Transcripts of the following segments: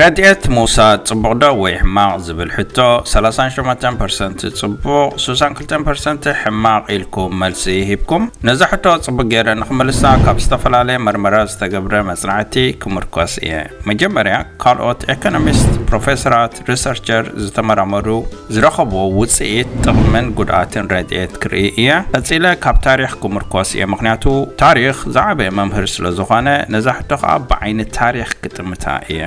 ረድኤት ምውሳድ ጽቡቕ ዶ ወይ ሕማቕ ዝብል ሕቶ፣ ሰላሳን ሸሞንተን ፐርሰንት ጽቡቕ፣ ስሳን ክልተን ፐርሰንት ሕማቕ ኢልኩም መልሲ ሂብኩም። ነዛ ሕቶ ጽቡቕ ገይረ ንኽምልሳ ካብ ዝተፈላለየ መርመራ ዝተገብረ መጽናዕቲ ክምርኮስ እየ። መጀመርያ ካልኦት ኤኮኖሚስት፣ ፕሮፌሰራት፣ ሪሰርቸር ዝተመራመሩ ዝረኸብዎ ውጽኢት ጥቕምን ጉድኣትን ረድኤት ክርኢ እየ። ቀጺለ ካብ ታሪኽ ክምርኮስ እየ፣ ምኽንያቱ ታሪኽ ዝዓበየ መምህር ስለ ዝኾነ፣ ነዛ ሕቶ ኸኣ ብዓይኒ ታሪኽ ክጥምታ እየ።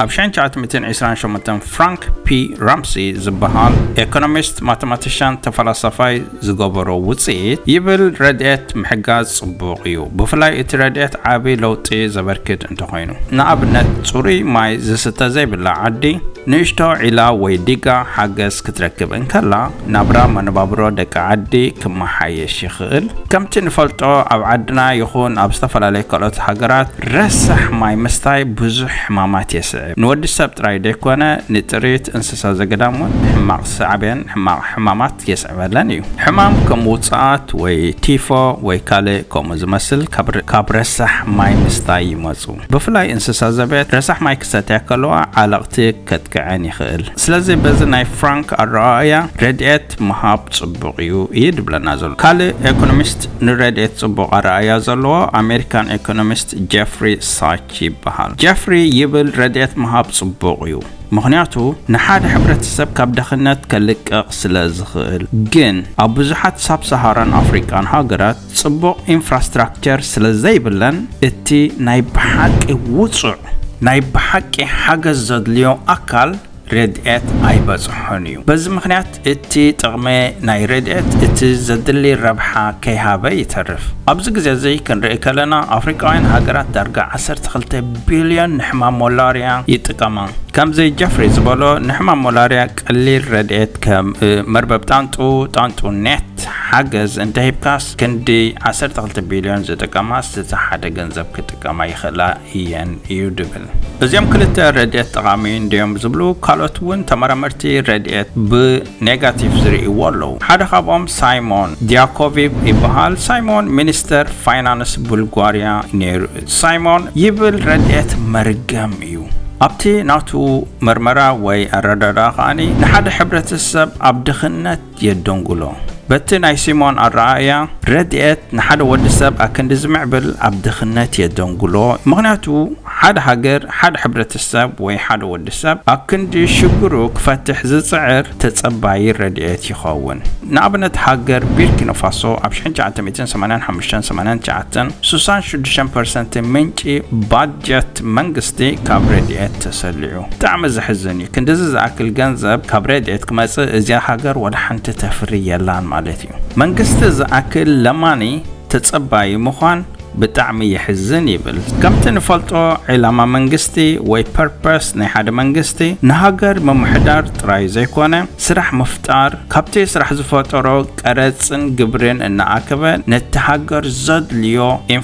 ኣብ ሽሕን ትሽዓተ ሚእትን ዕስራን ሸሞንተን ፍራንክ ፒ ራምሲ ዝበሃል ኤኮኖሚስት፣ ማተማቲሻን፣ ተፈላሳፋይ ዝገበሮ ውጽኢት ይብል፣ ረድኤት ምሕጋዝ ጽቡቕ እዩ፣ ብፍላይ እቲ ረድኤት ዓቢ ለውጢ ዘበርክት እንተኾይኑ። ንኣብነት፣ ጽሩይ ማይ ዝስተ ዘይብላ ዓዲ፣ ንእሽቶ ዒላ ወይ ዲጋ ሓገዝ ክትረክብ እንከላ፣ ናብራ መነባብሮ ደቂ ዓዲ ክመሓየሽ ይኽእል። ከምቲ ንፈልጦ፣ ኣብ ዓድና ይኹን ኣብ ዝተፈላለዩ ካልኦት ሃገራት፣ ረሳሕ ማይ ምስታይ ብዙሕ ሕማማት የስዕብ። ንወዲ ሰብ ጥራይ ደይኮነ፣ ንጥሪት እንስሳ ዘገዳም እውን ሕማቕ ሳዕቤን፣ ሕማቕ ሕማማት የስዕበለን እዩ። ሕማም ከም ውጽኣት ወይ ቲፎ ወይ ካልእ ከምኡ ዝመስል ካብ ር-፣ ካብ ረሳሕ ማይ ምስታይ ይመጹ። ብፍላይ እንስሳ ዘቤት ረሳሕ ማይ ክሰትያ ከለዋ ዓለቕቲ ከጥቅዐን ይኽእል። ስለዚ በዚ ናይ ፍራንክ ኣረኣእያ ረድኤት ምሃብ ጽቡቕ እዩ እዩ ድብለና ዘሎ። ካልእ ኤኮኖሚስት ንረድኤት ጽቡቕ ኣረኣእያ ዘለዎ ኣሜሪካን ኤኮኖሚስት ጀፍሪ ሳች ይበሃል። ጀፍሪ ይብል፣ ረድኤት ምሃብ ጽቡቕ እዩ፣ ምኽንያቱ ንሓደ ሕብረተሰብ ካብ ድኽነት ከልቅቕ ስለ ዝኽእል። ግን ኣብ ብዙሓት ሳብ ሰሃራን ኣፍሪቃን ሃገራት ጽቡቕ ኢንፍራስትራክቸር ስለ ዘይብለን፣ እቲ ናይ ብሓቂ ውጹዕ፣ ናይ ብሓቂ ሓገዝ ዘድልዮ ኣካል ረድኤት ኣይበጽሖን እዩ። በዚ ምኽንያት እቲ ጥቕሚ ናይ ረድኤት እቲ ዘድሊ ረብሓ ከይሃበ ይተርፍ። ኣብዚ ግዜ እዚ ክንርኢ ከለና ኣፍሪቃውያን ሃገራት ዳርጋ ዓሰርተ ክልተ ቢልዮን ንሕማም ሞላርያ ይጥቀማ። ከምዚ ጀፍሪ ዝበሎ ንሕማም ሞላርያ ቀሊል ረድኤት ከም፣ እ፣ መርበብ ጣንጡ፣ ጣንጡ ኔት ሓገዝ እንተሂብካስ ክንዲ ዓሰርተ ክልተ ቢልዮን ዝጥቀማስ ዝተሓደ ገንዘብ ክጥቀማ ይኽእላ እየን እዩ ድብል። እዚኦም ክልተ ረድኤት ጠቓሚ እንድዮም ዝብሉ ካልኦት እውን ተመራመርቲ ረድኤት ብኔጋቲቭ ዝርእይዎ ኣለዉ። ሓደ ካብኦም ሳይሞን ዲያኮቪቭ ይበሃል። ሳይሞን ሚኒስተር ፋይናንስ ቡልጋርያ ነይሩ። ሳይሞን ይብል፣ ረድኤት መርገም እዩ። ኣብቲ ናቱ መርመራ ወይ ኣረዳድኣ ከኣኒ ንሓደ ሕብረተሰብ ኣብ ድኽነት የደንጉሎ። በቲ ናይ ሲሞን ኣረኣእያ፣ ረድኤት ንሓደ ወዲ ሰብ ኣክንዲ ዝምዕብል ኣብ ድኽነት የደንጉሎ። ምኽንያቱ፣ ሓደ ሃገር፣ ሓደ ሕብረተሰብ ወይ ሓደ ወዲ ሰብ ኣክንዲ ሽግሩ ክፈትሕ ዝጽዕር ተጸባዪ ረድኤት ይኸውን። ንኣብነት፣ ሃገር ቢርኪኖ ፋሶ ኣብ ሽሕን ትሽዓተ ሚእትን ሰማንያን ሓሙሽተን ሰማንያን ትሽዓተን ስሳን ሽዱሽተን ፐርሰንት ምንጪ ባጀት መንግስቲ ካብ ረድኤት ተሰሊዑ። ብጣዕሚ ዘሕዝን እዩ። ክንድዚ ዝኣክል ገንዘብ ካብ ረድኤት ክመጽእ፣ እዚኣ ሃገር ወላ ሓንቲ ተፍሪ የላን ማለት እዩ። መንግስቲ ዝኣክል ለማኒ ተጸባዪ ምዃን ብጣዕሚ የሕዝን ይብል። ከምቲ ንፈልጦ፣ ዕላማ መንግስቲ ወይ ፐርፐስ ናይ ሓደ መንግስቲ ንሃገር ምምሕዳር ጥራይ ዘይኮነ፣ ስራሕ ምፍጣር፣ ካብቲ ስራሕ ዝፈጠሮ ቀረጽን ግብርን እናኣከበ ነቲ ሃገር ዘድልዮ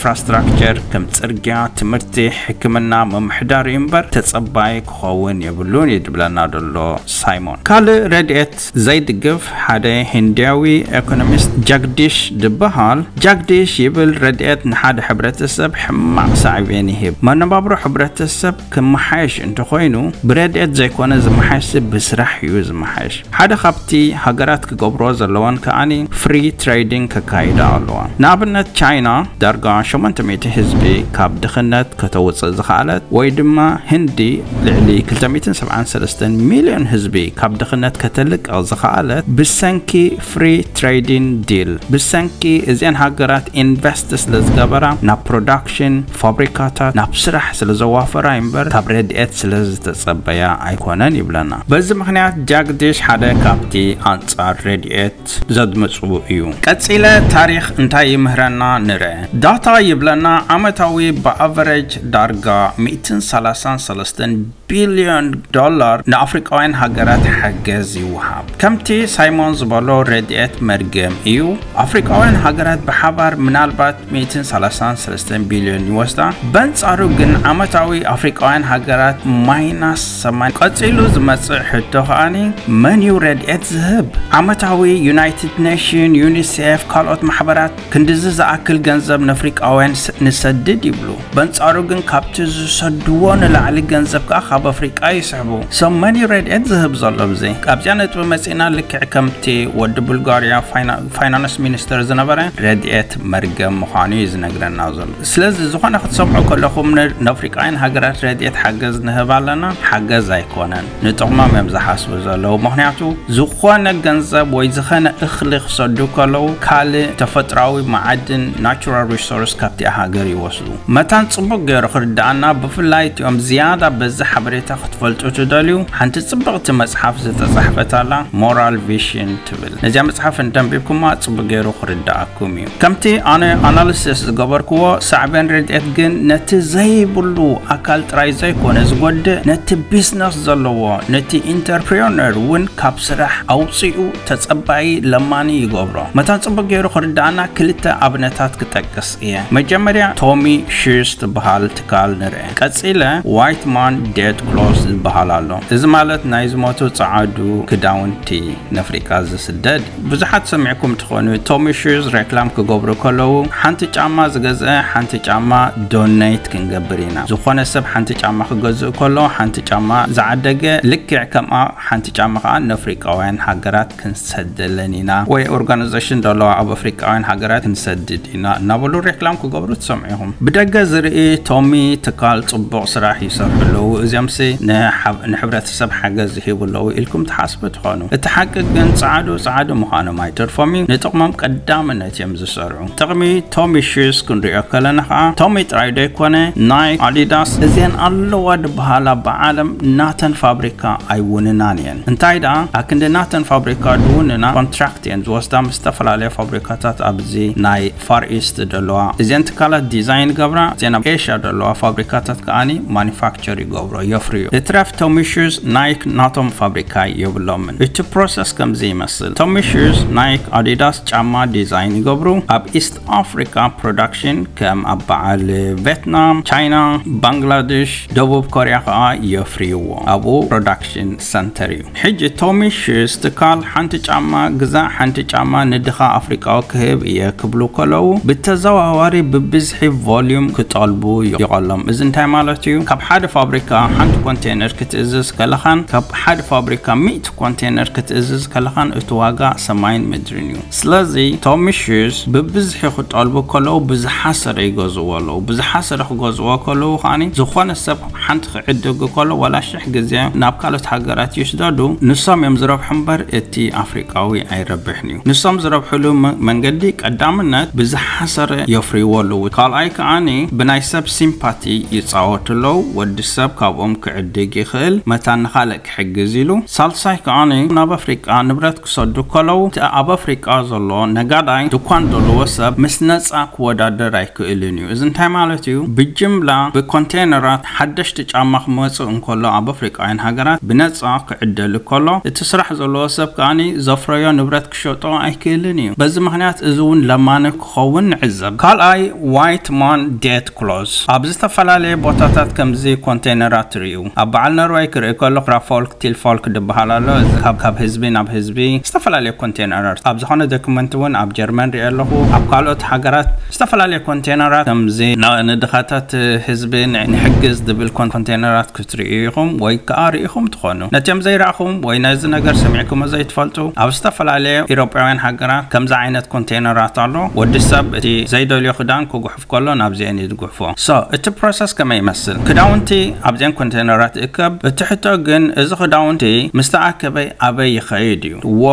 ኢንፍራስትራክቸር ከም ጽርግያ፣ ትምህርቲ፣ ሕክምና ምምሕዳር እዩ እምበር ተጸባዪ ክኸውን የብሉን እዩ ድብለና ዘሎ ሳይሞን። ካልእ ረድኤት ዘይድግፍ ሓደ ሂንድያዊ ኤኮኖሚስት ጃግዲሽ ድበሃል። ጃግዲሽ ይብል፣ ረድኤት ንሓደ ሕብረተሰብ ሕማቕ ሳዕቤን ይህብ። መነባብሮ ሕብረተሰብ ክመሓየሽ እንተኾይኑ ብረድኤት ዘይኮነ ዝመሓየሽ ብስራሕ እዩ ዝመሓየሽ። ሓደ ካብቲ ሃገራት ክገብሮ ዘለወን ከኣኒ ፍሪ ትሬዲንግ ከካይዳ ኣለዋ። ንኣብነት ቻይና ዳርጋ ሸሞንተ ሚእቲ ህዝቢ ካብ ድኽነት ከተውፅእ ዝኸኣለት ወይ ድማ ህንዲ ልዕሊ ክልተ ሚእትን ሰብዓን ሰለስተን ሚልዮን ህዝቢ ካብ ድኽነት ከተልቅቕ ዝኸኣለት ብሰንኪ ፍሪ ትሬዲንግ ዲል፣ ብሰንኪ እዚአን ሃገራት ኢንቨስት ስለ ዝገበራ ናብ ፕሮዳክሽን ፋብሪካታት ናብ ስራሕ ስለ ዘዋፈራ እምበር ካብ ረድኤት ስለ ዝተጸበያ ኣይኮነን ይብለና። በዚ ምኽንያት ጃግዲሽ ሓደ ካብቲ ኣንጻር ረድኤት ዘድምጹ እዩ። ቀጺለ ታሪኽ እንታይ ይምህረና ንርአ። ዳታ ይብለና ዓመታዊ ብኣቨረጅ ዳርጋ ሚእትን ሰላሳን ሰለስተን ቢልዮን ዶላር ንኣፍሪቃውያን ሃገራት ሓገዝ ይወሃብ። ከምቲ ሳይሞን ዝበሎ፣ ረድኤት መርገም እዩ። ኣፍሪቃውያን ሃገራት ብሓባር ምናልባት ሚእትን ሰላሳን ሰለስተን ቢልዮን ይወስዳ። በንጻሩ ግን ዓመታዊ ኣፍሪቃውያን ሃገራት ማይናስ ሰማንያ። ቀጺሉ ዝመጽእ ሕቶ ከኣኒ፣ መን እዩ ረድኤት ዝህብ? ዓመታዊ ዩናይትድ ኔሽን፣ ዩኒሴፍ፣ ካልኦት ማሕበራት ክንድዚ ዝኣክል ገንዘብ ንኣፍሪቃውያን ስ- ንሰድድ ይብሉ። በንጻሩ ግን ካብቲ ዝሰድዎ ንላዕሊ ገንዘብ ከኣ ካብ ኣፍሪቃ ይስሕቡ። So መን እዩ ረድኤት ዝህብ ዘሎ ብዚ? ኣብዚኣ ነጥቢ መጺእና። ልክዕ ከምቲ ወዲ ቡልጋርያ ፋይና- ፋይናንስ ሚኒስተር ዝነበረ፣ ረድኤት መርገም ምዃኑ እዩ ዝነግረና ዘሎ። ስለዚ ዝኾነ ክትሰምዑ ከለኹም ን- ንኣፍሪቃውያን ሃገራት ረድኤት ሓገዝ ንህብ ኣለና፣ ሓገዝ ኣይኮነን። ንጥቕሞም እዮም ዝሓስቡ ዘለዉ። ምኽንያቱ ዝኾነ ገንዘብ ወይ ዝኾነ እኽሊ ክሰዱ ከለዉ ካልእ ተፈጥራዊ መዓድን ናቹራል ሪሶርስ ካብቲኣ ሃገር ይወስዱ። መታን ጽቡቕ ገይሩ ክርድኣና፣ ብፍላይ እቲኦም ዝያዳ በዚ ሓበሬታ ክትፈልጡ ትደልዩ፣ ሓንቲ ጽብቕቲ መጽሓፍ ዝተጻሕፈት ኣላ፣ ሞራል ቪሽን ትብል። ነዚኣ መጽሓፍ እንተንቢብኩማ ጽቡቕ ገይሩ ክርድኣኩም እዩ። ከምቲ ኣነ ኣናሊሲስ ዝገበርክዎ፣ ሳዕቤን ረድኤት ግን ነቲ ዘይብሉ ኣካል ጥራይ ዘይኮነ ዝጎድእ፣ ነቲ ቢዝነስ ዘለዎ፣ ነቲ ኢንተርፕሪነር እውን ካብ ስራሕ ኣውጺኡ ተጸባዪ ለማኒ ይገብሮ። መታን ጽቡቕ ገይሩ ክርድኣና ክልተ ኣብነታት ክጠቅስ እየ። መጀመርያ ቶሚ ሺርስ ትበሃል ትካል ንርአ። ቀጺለ ዋይት ማን ዴድ ክሎዝ ዝበሃል ኣሎ። እዚ ማለት ናይ ዝሞቱ ጸዓዱ ክዳውንቲ ንኣፍሪቃ ዝስደድ። ብዙሓት ሰሚዕኩም ትኾኑ፣ ቶሚ ሹዝ ሬክላም ክገብሩ ከለዉ፣ ሓንቲ ጫማ ዝገዝአ ሓንቲ ጫማ ዶኔት ክንገብር ኢና። ዝኾነ ሰብ ሓንቲ ጫማ ክገዝእ ከሎ፣ ሓንቲ ጫማ ዝዓደገ ልክዕ ከምኣ ሓንቲ ጫማ ከኣ ንኣፍሪቃውያን ሃገራት ክንሰደለን ኢና፣ ወይ ኦርጋናይዜሽን ዘለዋ ኣብ ኣፍሪቃውያን ሃገራት ክንሰድድ ኢና እናበሉ ሬክላም ክገብሩ ትሰምዑ ኢኹም። ብደገ ዝርኢ ቶሚ ትካል ጽቡቕ ስራሕ ይሰርሑ ኣለዉ። እዚኦምሲ ንሓብ- ንሕብረተሰብ ሓገዝ ይህቡ ኣለዉ ኢልኩም ትሓስቡ ትኾኑ። እቲ ሓቂ ግን ጸዓዱ ጸዓዱ ምዃኖም ኣይተርፎም እዩ። ንጥቕሞም ቀዳምነት እዮም ዝሰርዑ። ጥቕሚ ቶሚ ሹዝ ክንሪኦ ከለና ከኣ ቶሚ ጥራይ ዶ ይኮነ፣ ናይክ፣ ኣዲዳስ እዚአን ኣለዋ ዝበሃላ ብዓለም ናተን ፋብሪካ ኣይውንናን እየን። እንታይ ደኣ ኣክንዲ ናተን ፋብሪካ ድውንና ኮንትራክት እየን ዝወስዳ ምስ ዝተፈላለያ ፋብሪካታት ኣብዚ ናይ ፋር ኢስት ደለዋ። እዚአን ትካላት ዲዛይን ገብራ፣ እዚአን ኣብ ኤሽያ ደለዋ ፋብሪካታት ከኣኒ ማኒፋክቸር ይገብሮ፣ የፍርዩ። እትረፍ ቶሚ ሹዝ፣ ናይክ ናቶም ፋብሪካ የብሎምን። እቲ ፕሮሰስ ከምዚ ይመስል። ቶሚ ሹዝ፣ ናይክ፣ ኣዲዳስ ጫማ ዲዛይን ይገብሩ። ኣብ ኢስት ኣፍሪካ ፕሮዳክሽን ከም ኣብ በዓል ቬትናም፣ ቻይና፣ ባንግላዴሽ፣ ደቡብ ኮርያ ከኣ የፍርይዎ። ኣብኡ ፕሮዳክሽን ሰንተር እዩ። ሕጂ ቶሚ ሹዝ ትካል ሓንቲ ጫማ ግዛእ ሓንቲ ጫማ ንድኻ ኣፍሪቃዊ ክህብ እየ ክብሉ ከለዉ ብተዘዋዋሪ ብብዝሒ ቮልዩም ክጠልቡ ይቐሎም። እዚ እንታይ ማለት እዩ? ካብ ሓደ ፋብሪካ ሓንቲ ኮንቴነር ክትእዝዝ ከለኻን ካብ ሓደ ፋብሪካ ሚእቲ ኮንቴነር ክትእዝዝ ከለኻን እቲ ዋጋ ሰማይን ምድርን እዩ። ስለዚ ቶሚ ሹዝ ብብዝሒ ክጠልቡ ከለዉ ብዝሓሰረ ይገዝዎ ኣለዉ። ብዝሓሰረ ክገዝዎ ከለዉ ከኣኒ ዝኾነ ሰብ ሓንቲ ክዕድግ ከሎ ዋላ ሽሕ ግዜ ናብ ካልኦት ሃገራት ይስደዱ፣ ንሶም እዮም ዝረብሑ እምበር እቲ ኣፍሪቃዊ ኣይረብሕን እዩ። ንሶም ዝረብሕሉ መ- መንገዲ ቀዳምነት ብዝሓሰረ የፍርይዎ ኣለዉ። ካልኣይ ከኣኒ ብናይ ሰብ ሲምፓቲ ይጻወቱ ኣለዉ። ወዲ ሰብ ካብኦም ክዕድግ ይኽእል፣ መታን ንኻልእ ክሕግዝ ኢሉ። ሳልሳይ ከኣኒ ናብ ኣፍሪቃ ንብረት ክሰዱ ከለዉ እቲ ኣብ ኣፍሪቃ ዘሎ ነጋዳይ ድኳን ዘለዎ ሰብ ምስ ነጻ ክወዳደር ኣይክእልን እዩ። እዚ እንታይ ማለት እዩ? ብጅምላ ብኮንቴነራት ሓደሽቲ ጫማ ክመጽእ እንከሎ ኣብ ኣፍሪቃውያን ሃገራት ብነጻ ክዕደል ከሎ እቲ ስራሕ ዘለዎ ሰብ ከኣኒ ዘፍረዮ ንብረት ክሸጦ ኣይክእልን እዩ። በዚ ምኽንያት እዚ እውን ለማኒ ክኸውን ንዕዘብ። ካልኣይ ዋይት ማን ዴት ክሎዝ ኣብ ዝተፈላለየ ቦታታት ከምዚ ኮንቴነራት ትርእዩ። ኣብ በዓል ኖርወይ ክርኢ ከለኹ ራፎልክ ቲልፎልክ ዝበሃል ኣሎ። እዚ ካብ ካብ ህዝቢ ናብ ህዝቢ ዝተፈላለየ ኮንቴነራት ኣብ ዝኾነ ዶክመንት እውን ኣብ ጀርመን ሪኦ ኣለኹ። ኣብ ካልኦት ሃገራት ዝተፈላለየ ኮንቴነራት ከምዚ ና- ንድኻታት ህዝቢ ን- ንሕግዝ ዝብል ኮን- ኮንቴነራት ክትርእዩ ኢኹም ወይ ከዓ ርኢኹም ትኾኑ። ነቲኦም ዘይረኣኹም ወይ ነዚ ነገር ሰሚዕኩሞ ዘይትፈልጡ ኣብ ዝተፈላለየ ኢሮጳውያን ሃገራት ከምዚ ዓይነት ኮንቴነራት ኣሎ። ወዲ ሰብ እቲ ዘይደልዮ ክዳን ክጉሕፍ ከሎ ናብዚአን እዩ ዝጉሕፎ። So እቲ ፕሮሰስ ከመይ ይመስል? ክዳውንቲ ኣብዚአን ኮንቴነራት ይእከብ። እቲ ሕቶ ግን እዚ ክዳውንቲ ምስ ተኣከበ ኣበይ ይኸይድ እዩ? ዎ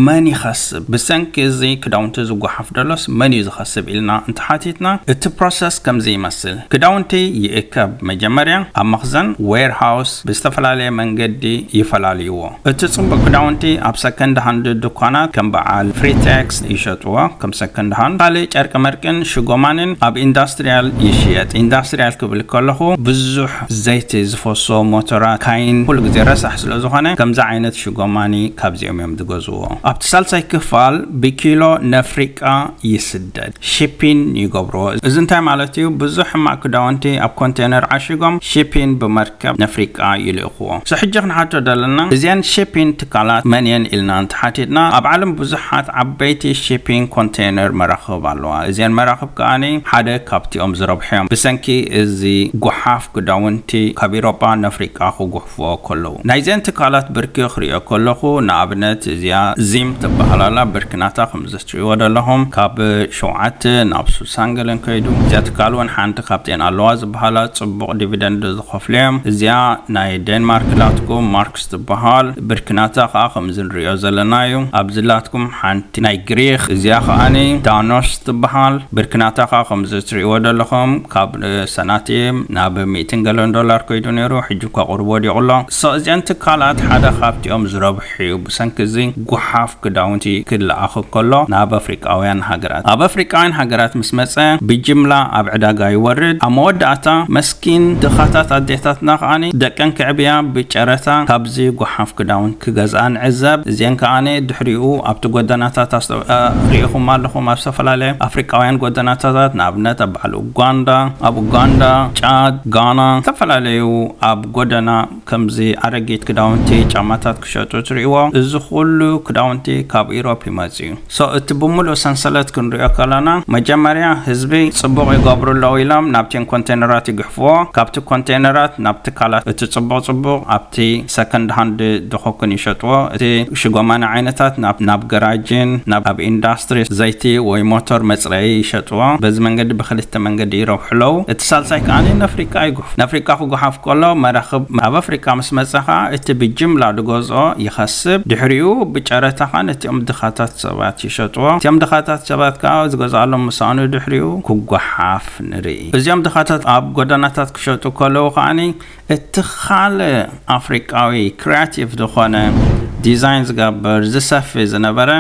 መን ይኸስብ? ብሰንኪ እዚ ክዳውንቲ ዝጓሓፍ ደሎስ መን እዩ ዝኸስብ ኢልና እንተሓቲትና እቲ ፕሮሰስ ከምዚ ይመስል። ክዳውንቲ ይእከብ። መጀመርያ ኣብ መኽዘን ዌርሃውስ ብዝተፈላለየ መንገዲ ይፈላልይዎ። እቲ ጽቡቕ ክዳውንቲ ኣብ ሰከንድ ሃንድ ድኳናት ከም በዓል ፍሪቴክስ ይሸጥዎ፣ ከም ሰከንድ ሃንድ። ካልእ ጨርቂ መርቅን ሽጎማንን ኣብ ኢንዳስትሪያል ይሽየጥ። ኢንዳስትሪያል ክብል ከለኹ ብዙሕ ዘይቲ ፎሶ፣ ሞቶራ፣ ካይን ኩሉ ግዜ ረሳሕ ስለ ዝኾነ ከምዚ ዓይነት ሽጎማኒ ካብዚኦም እዮም ዝገዝዎ። ኣብቲ ሳልሳይ ክፋል ብኪሎ ነፍሪቃ ይስደድ፣ ሺፒን ይገብርዎ። እዚ እንታይ ማለት እዩ? ብዙሕ ሕማቕ ክዳውንቲ ኣብ ኮንቴነር ዓሺጎም ሺፒን ብመርከብ ነፍሪቃ ይልእኽዎ። ሶ ሕጂ ክንሓቶ ዘለና እዚኣን ሺፒን ትካላት መን እየን ኢልና እንተሓቲትና ኣብ ዓለም ብዙሓት ዓበይቲ ሺፒን ኮንቴነር መራኽብ ኣለዋ። እዚኣን መራኽብ ከኣኒ ሓደ ካብቲኦም ዝረብሑ እዮም። ብሰንኪ እዚ ጓሓፍ ክዳውንቲ ካብ ኢሮጳ ነፍሪቃ ክጉሕፍዎ ከለዉ ናይዘን ትካላት ብርኪ ክሪኦ ከለኹ ንኣብነት እዚኣ ዚም ትበሃል ኣላ። ብርክናታ ከም ዝትሪእዎ ዘለኹም ካብ ሸውዓተ ናብ ሱሳን ገለን ከይዱ። እዚኣ ትካል እውን ሓንቲ ካብተን ኣለዋ ዝበሃላ ጽቡቕ ዲቪደንድ ዝኸፍሉ እዮም። እዚኣ ናይ ዴንማርክ ዳትኮም ማርክስ ትበሃል። ብርክናታ ከዓ ከምዚ ንሪኦ ዘለና እዩ። ኣብዚ ላትኩም ሓንቲ ናይ ግሪክ፣ እዚኣ ከዓኒ ዳኖስ ትበሃል። ብርክናታ ከዓ ከምዚ ትሪእዎ ዘለኹም ካብ ሰናቲም ናብ ሚእትን ገለን ዶላር ከይዱ ነይሩ፣ ሕጂ እኳ ቁሩብ ወዲቑ ኣሎ። ሶ እዚኣን ትካላት ሓደ ካብቲኦም ዝረብሑ እዩ። ብሰንኪ እዚ ጓሓፍ ክዳውንቲ ክለኣኽ ከሎ ናብ ኣፍሪቃውያን ሃገራት፣ ኣብ ኣፍሪቃውያን ሃገራት ምስ መጸ ብጅምላ ኣብ ዕዳጋ ይወርድ። ኣብ መወዳእታ መስኪን ድኻታት ኣዴታትና ከዓኒ ደቀን ክዕብያ ብጨረታ ካብዚ ጓሓፍ ክዳውንቲ ክገዝኣ ንዕዘብ። እዚአን ከዓኒ ድሕሪኡ ኣብቲ ጎደናታት ኣስተ-፣ እ፣ ሪኢኹም ኣለኹም። ኣብ ዝተፈላለዩ ኣፍሪቃውያን ጎደናታት ንኣብነት ኣብ በዓል ኡጋንዳ፣ ኣብ ኡጋንዳ፣ ጫድ፣ ጋና፣ ዝተፈላለዩ ኣብ ጎደና ከምዚ ኣረጊት ክዳውንቲ፣ ጫማታት ክሸጡ ትሪእዎ። እዚ ኩሉ ክዳውንቲ ካብ ኢሮፕ ይመጽእ እዩ። ሶ እቲ ብምሉእ ሰንሰለት ክንሪኦ ከለና መጀመርያ ህዝቢ ጽቡቕ ይገብሩ ኣለዉ ኢሎም ናብተን ኮንቴነራት ይግሕፍዎ። ካብቲ ኮንቴነራት ናብ ትካላት እቲ ጽቡቕ ጽቡቕ ኣብቲ ሰከንድ ሃንድ ድኾኩን ይሸጥዎ። እቲ ሽጎማኒ ዓይነታት ናብ፣ ናብ ገራጅን ናብ፣ ኣብ ኢንዳስትሪ ዘይቲ ወይ ሞተር መጽረዪ ይሸጥዎ። በዚ መንገዲ ብክልተ መንገዲ ይረብሑ ኣለዉ። እቲ ሳልሳይ ከኣ ነፍሪቃ ይጉሕፍ። ነፍሪቃ ክጉሓፍ ከሎ መራኽብ ኣብ ኣፍሪቃ ምስ መጸ ከኣ እቲ ብጅምላ ዝገዝኦ ይኸስብ። ድሕሪኡ ብጨረታ ከኣ ነቲኦም ድኻታት ሰባት ይሸጥዎ። እቲኦም ድኻታት ሰባት ከኣ ዝገዝኣሎም ምሳኑ ድሕሪኡ ክጓሓፍ ንርኢ። እዚኦም ድኻታት ኣብ ጎደናታት ክሸጡ ከለዉ ከኣኒ እቲ ካልእ ኣፍሪቃዊ ክሪያቲቭ ዝኾነ ዲዛይን ዝገብር ዝሰፊ ዝነበረ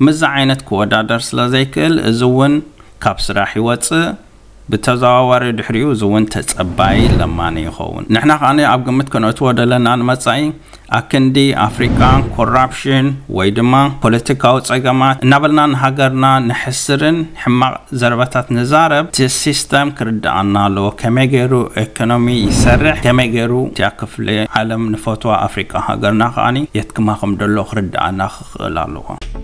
ምስዚ ዓይነት ክወዳደር ስለ ዘይክእል እዚ እውን ካብ ስራሕ ይወጽእ። ብተዘዋዋሪ ድሕሪኡ እዚ እውን ተጸባይ ለማኒ ይኸውን። ንሕና ከኣ ኣብ ግምት ከነእትዎ ዘለና ንመጻኢ ኣክንዲ ኣፍሪቃ ኮራፕሽን ወይ ድማ ፖለቲካዊ ጸገማት እናበልና ንሃገርና ንሕስርን ሕማቕ ዘረባታት ንዛረብ፣ እቲ ሲስተም ክርድኣና ኣለዎ። ከመይ ገይሩ ኢኮኖሚ ይሰርሕ፣ ከመይ ገይሩ እቲኣ ክፍሊ ዓለም ንፈትዋ ኣፍሪቃ ሃገርና ከኣ የትክማ ከም ደሎ ክርድኣና ክኽእል ኣለዎ።